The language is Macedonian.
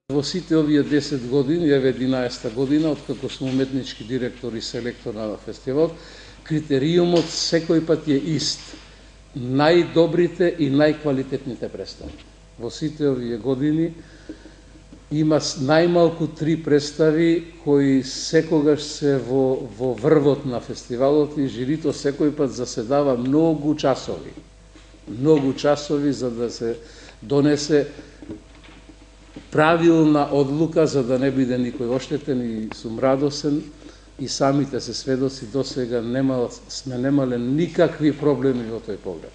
Во сите овие 10 години, еве 11-та година, откако сум уметнички директор и селектор на фестивалот, критериумот секој пат е ист. Најдобрите и најквалитетните представи. Во сите овие години има најмалку 3 представи кои секогаш се во врвот на фестивалот и жирито секој пат заседава многу часови за да се донесе правилна одлука за да не биде никој оштетен, и сум радосен и самите се сведоци до сега сме немале никакви проблеми во тој поглед.